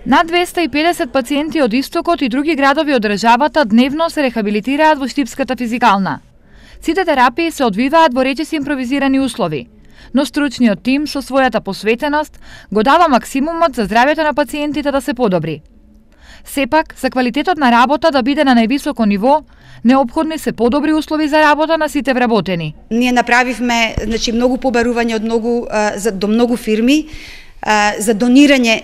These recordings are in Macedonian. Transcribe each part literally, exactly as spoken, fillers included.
Над двеста и педесет пациенти од Истокот и други градови од државата дневно се рехабилитираат во Штипската физикална. Сите терапии се одвиваат во речиси импровизирани услови, но стручниот тим со својата посветеност го дава максимумот за здравјето на пациентите да се подобри. Сепак, за квалитетот на работа да биде на највисоко ниво, неопходни се подобри услови за работа на сите вработени. Ние направивме, значи, многу побарување од многу за до многу фирми за донирање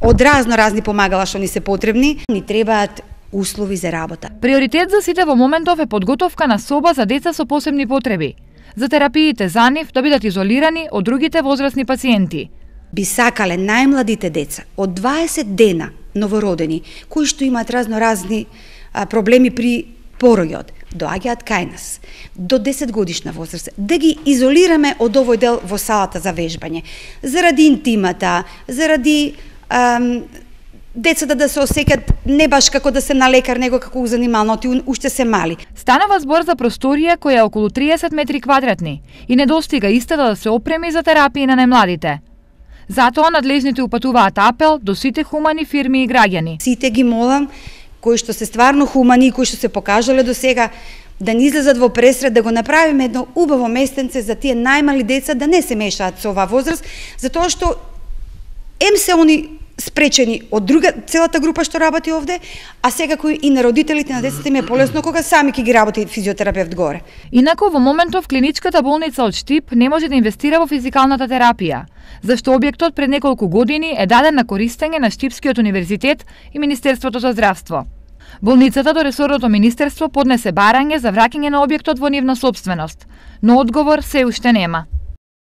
од разно разни помагала што ни се потребни. Ни требаат услови за работа. Приоритет за сите во моментов е подготовка на соба за деца со посебни потреби, за терапиите за нив да бидат изолирани од другите возрастни пациенти. Би сакале најмладите деца од дваесет дена новородени, кои што имаат разноразни проблеми при пороѓот, доаѓаат кај нас, до десет годишна возраст, да ги изолираме од овој дел во салата за вежбање, заради интимата, заради ам, децата да се осеќат не баш како да се на лекар, него како у занимално, ти уште се мали. Станува збор за просторија која е околу триесет метри квадратни и недостига истата да се опреми за терапии на најмладите. Затоа надлежните упатуваат апел до сите хумани фирми и граѓани. Сите ги молам, кои што се стварно хумани и кои што се покажале до сега, да ни излезат во пресред, да го направиме едно убаво местенце за тие најмали деца да не се мешаат со оваа возраст, затоа што ем се они спречени од друга целата група што работи овде, а секако и на родителите на децата им е полесно кога сами ќе ги работи физиотерапевт горе. Инаку во моментов клиничката болница од Штип не може да инвестира во физикалната терапија, зашто објектот пред неколку години е даден на користење на Штипскиот универзитет и Министерството за здравство. Болницата до ресорното министерство поднесе барање за враќање на објектот во нивна сопственост, но одговор се уште нема.